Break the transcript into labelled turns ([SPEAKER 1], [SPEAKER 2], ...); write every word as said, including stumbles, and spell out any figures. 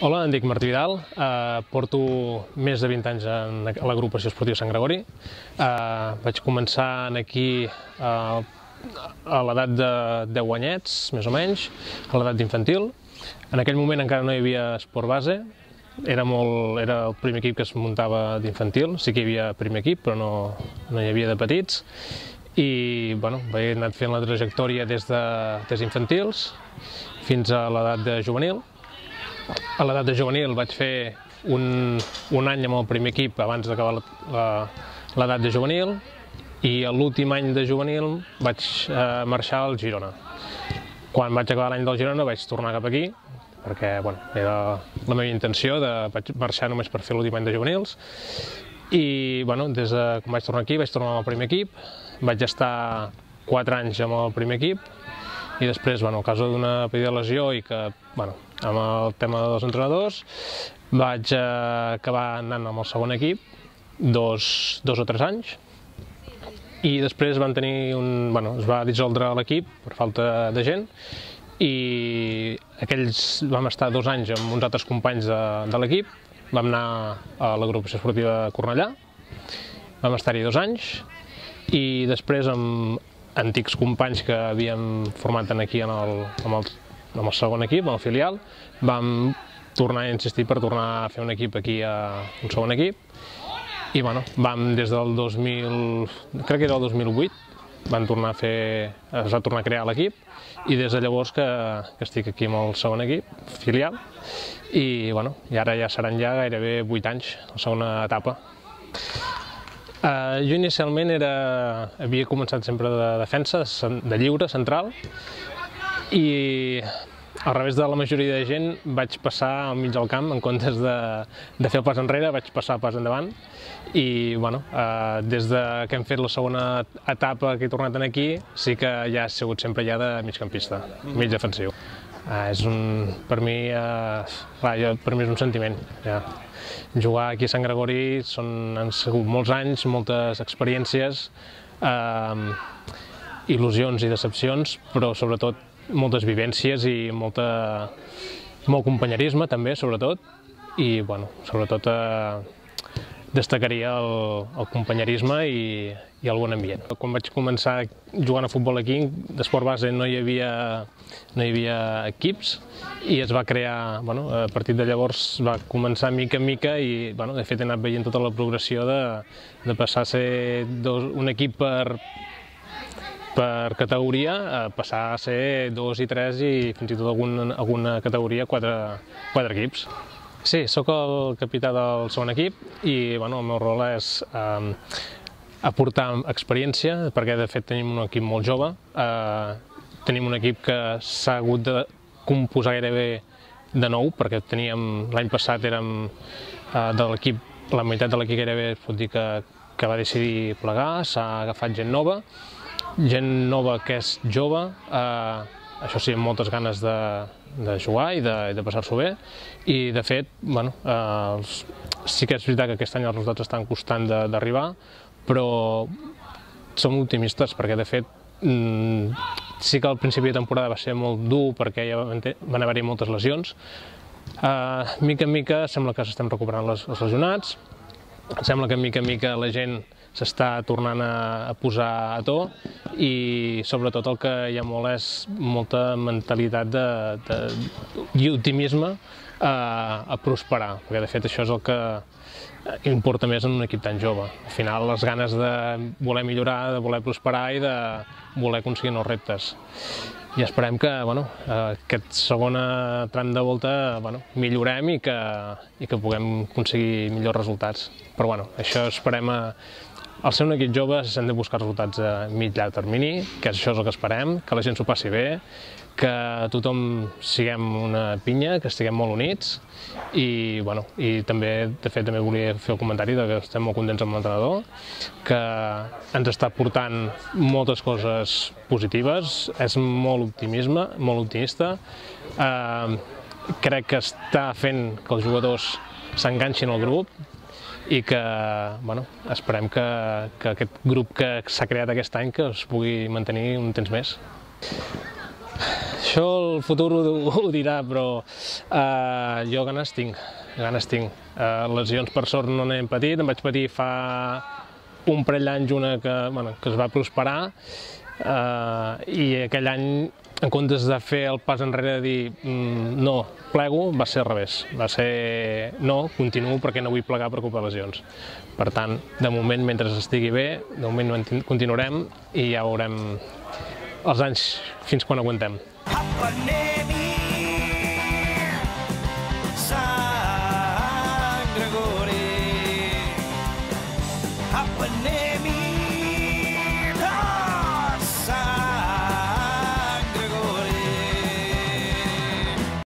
[SPEAKER 1] Hola, em dic Martí Vidal, eh, porto més de vint anys en a l'agrupació esportiva Sant Gregori. Eh, vaig començar aquí eh, a l'edat de deu anyets, més o menys, a l'edat d'infantil. En aquell moment encara no hi havia esport base, era, molt, era el primer equip que es muntava d'infantil, sí que hi havia primer equip, però no, no hi havia de petits. I bueno, he anat fent la trajectòria des d'infantils de, fins a l'edat de juvenil. A l'edat de juvenil vaig fer un, un any amb el primer equip abans d'acabar l'edat de juvenil i l'últim any de juvenil vaig eh, marxar al Girona. Quan vaig acabar l'any del Girona vaig tornar cap aquí perquè bueno, era la meva intenció de vaig marxar només per fer l'últim any de juvenils i bueno, des de quan vaig tornar aquí vaig tornar amb el primer equip, vaig estar quatre anys amb el primer equip i després, bueno, a causa d'una petita lesió i que, bueno, amb el tema dels entrenadors, vaig eh, acabar anant amb el segon equip, dos, dos o tres anys, i després van tenir un, bueno, es va dissoldre l'equip per falta de gent, i aquells vam estar dos anys amb uns altres companys de, de l'equip, vam anar a l'agrupació esportiva de Cornellà, vam estar-hi dos anys, i després amb antics companys que havíem format aquí en el, en el, en el segon equip, en el filial, vam tornar a insistir per tornar a fer un equip aquí, a un segon equip, i bueno, vam des del dos mil, crec que era el dos mil vuit, van tornar a fer, es va tornar a crear l'equip, i des de llavors que, que estic aquí amb el segon equip, filial, i bueno, i ara ja seran ja gairebé vuit anys, la segona etapa. Uh, jo inicialment era, havia començat sempre de defensa, de lliure, central, i al revés de la majoria de gent vaig passar al mig del camp, en comptes de, de fer el pas enrere, vaig passar el pas endavant, i bueno, uh, des de que hem fet la segona etapa que he tornat aquí, sí que ja he sigut sempre ja de migcampista, mig defensiu. Uh, és un, per mi, uh, clar, jo, per mi és un sentiment. Ja. Jugar aquí a Sant Gregori són, han sigut molts anys, moltes experiències, uh, il·lusions i decepcions, però sobretot moltes vivències i molta, molt companyerisme també, sobretot, i bueno, sobretot uh, destacaria el, el companyerisme i, i el bon ambient. Quan vaig començar jugant a futbol aquí, d'esport base no hi havia, no hi havia equips i es va crear, bueno, a partir de llavors va començar mica en mica i bueno, de fet he anat veient tota la progressió de, de passar a ser dos, un equip per, per categoria a passar a ser dos i tres i fins i tot alguna, alguna categoria quatre, quatre equips. Sí, sóc el capità del segon equip i bueno, el meu rol és eh, aportar experiència, perquè de fet tenim un equip molt jove, eh, tenim un equip que s'ha hagut de composar gairebé de nou, perquè teníem l'any passat érem eh, de l'equip, la meitat de l'equip gairebé es pot dir que, que va decidir plegar, s'ha agafat gent nova, gent nova que és jove, eh, això sí, amb moltes ganes de, de jugar i de, de passar-s'ho bé, i de fet, bueno, eh, els, sí que és veritat que aquest any els resultats estan costant d'arribar, però som optimistes perquè de fet mm, sí que al principi de temporada va ser molt dur perquè ja van haver-hi moltes lesions. Eh, mica en mica sembla que s'estem recuperant les, els lesionats, sembla que mica en mica la gent s'està tornant a, a posar a to i sobretot el que hi ha molt és molta mentalitat de, de, i optimisme a, a prosperar, perquè de fet això és el que importa més en un equip tan jove. Al final les ganes de voler millorar, de voler prosperar i de voler aconseguir nous reptes. I esperem que bueno, aquest segon tram de volta bueno, millorem i que, i que puguem aconseguir millors resultats. Però bueno, això esperem a Al ser un equip jove s'han de buscar resultats a mig llarg termini, que això és el que esperem, que la gent s'ho passi bé, que tothom siguem una pinya, que estiguem molt units i, bueno, i també, de fet, també volia fer el comentari que estem molt contents amb l'entrenador, que ens està portant moltes coses positives, és molt optimisme, molt optimista, eh, crec que està fent que els jugadors s'enganxin al grup, i que bueno, esperem que, que aquest grup que s'ha creat aquest any que es pugui mantenir un temps més. Això el futur ho, ho dirà, però uh, jo ganes tinc, ganes tinc. Uh, lesions per sort no n'he patit, em vaig patir fa un parell d'anys una que, bueno, que es va prosperar uh, i aquell any, en comptes de fer el pas enrere de dir mm, no, plego, va ser al revés. Va ser no, continuo perquè no vull plegar per culpa de lesions. Per tant, de moment, mentre estigui bé, de moment continuarem i ja veurem els anys fins quan aguantem.